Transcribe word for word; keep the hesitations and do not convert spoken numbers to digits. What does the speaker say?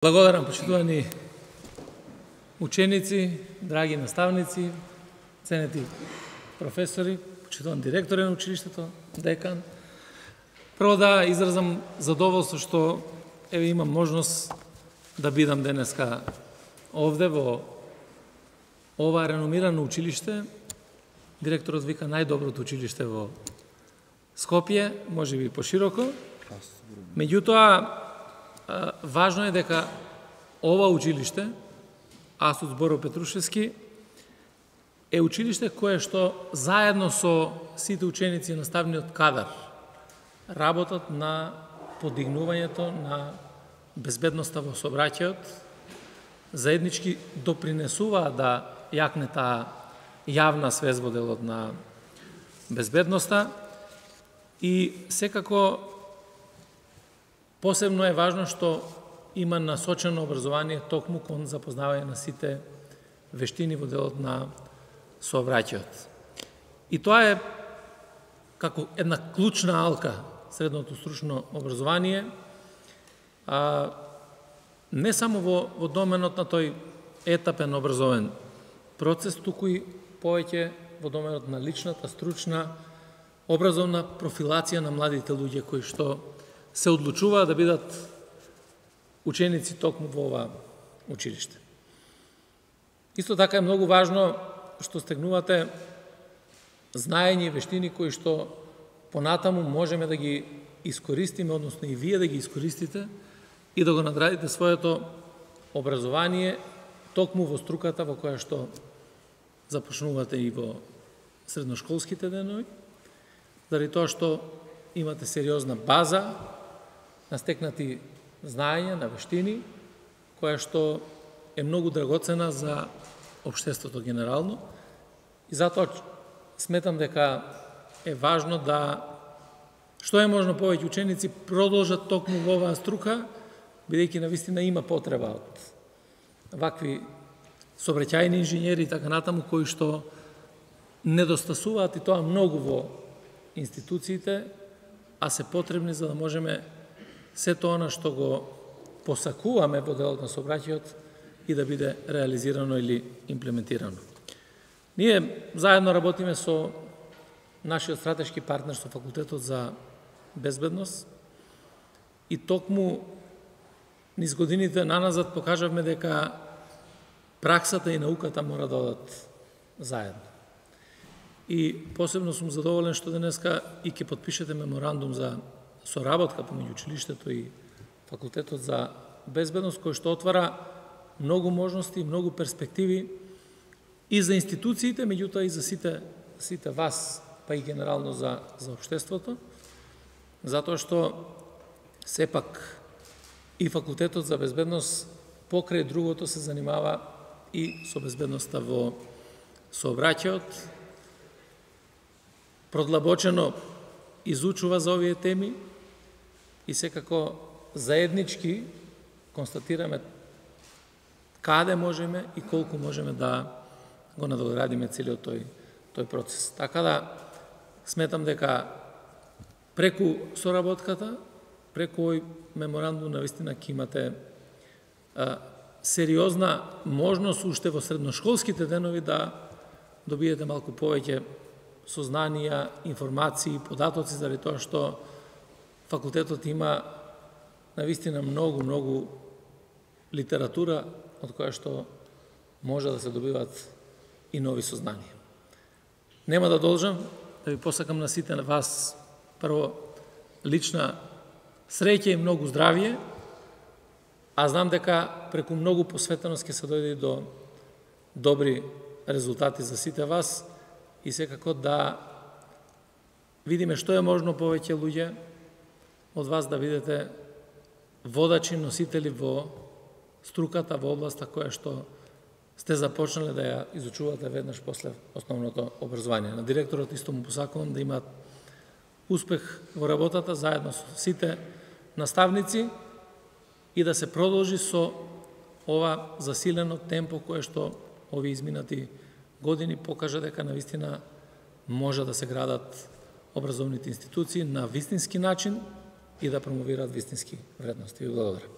Благодарам, почитувани ученици, драги наставници, ценети професори, почитуван директори на училиштето, декан. Прво да изразам задоволство што еве имам можност да бидам денеска овде во ова реномирано училиште. Директорот вика најдоброто училиште во Скопје, може би пошироко. Меѓутоа, важно е дека ова училиште, Асуц Боро Петрушевски, е училиште кое што заедно со сите ученици и наставниот кадар работат на подигнувањето на безбедноста во сообраќајот, заеднички допринесуваат да јакне таа јавна свест во делот на безбедноста и секако посебно е важно што има насочено образование токму кон запознавање на сите вештини во делот на сообраќајот. И тоа е како една клучна алка средното стручно образование, а, не само во, во доменот на тој етапен образовен процес, туку и повеќе во доменот на личната, стручна, образовна профилација на младите луѓе кои што се одлучуваат да бидат ученици токму во ова училиште. Исто така е многу важно што стегнувате знаење и вештини кои што понатаму можеме да ги искористиме, односно и вие да ги искористите и да го надградите своето образование токму во струката во која што започнувате и во средношколските денови, заради тоа што имате сериозна база на стекнати знаења, на вештини, која што е многу драгоцена за општеството генерално. И затоа сметам дека е важно да што е можно повеќе ученици продолжат токму во оваа струка, бидејќи навистина има потреба од вакви сообраќајни инженери и така натаму, кои што недостасуваат и тоа многу во институциите, а се потребни за да можеме сето она што го посакуваме во делот на сообраќајот и да биде реализирано или имплементирано. Ние заедно работиме со нашиот стратешки партнер со Факултетот за безбедност и токму низ годините наназад покажавме дека праксата и науката мора да одат заедно. И посебно сум задоволен што денеска и ќе подпишете меморандум за соработка помеѓу училиштето и Факултетот за безбедност, кој што отвара многу можности и многу перспективи и за институциите, меѓутоа и за сите, сите вас, па и генерално за, за општеството, затоа што сепак и Факултетот за безбедност покрај другото се занимава и со безбедноста во сообраќајот, продлабочено изучува за овие теми и секако заеднички констатираме каде можеме и колку можеме да го надоградиме целиот тој, тој процес. Така да сметам дека преку соработката, преку овој меморандум навистина ќе имате а, сериозна можност уште во средношколските денови да добиете малку повеќе сознанија, информации, податоци, заради тоа што факултетот има навистина многу, многу литература од која што може да се добиват и нови сознанија. Нема да должам, да ви посакам на сите на вас прво лична среќа и многу здравје, а знам дека преку многу посветеност ќе се дојде до добри резултати за сите вас и секако да видиме што е можно повеќе луѓе од вас да бидете водачи, носители во струката, во областа која што сте започнале да ја изучувате веднаш после основното образование. На директорот исто му посакувам да имаат успех во работата заедно со сите наставници и да се продолжи со ова засилено темпо кое што овие изминати години покажа дека навистина може да се градат образовните институции на вистински начин и да промовираат вистински вредности. Ви благодарам.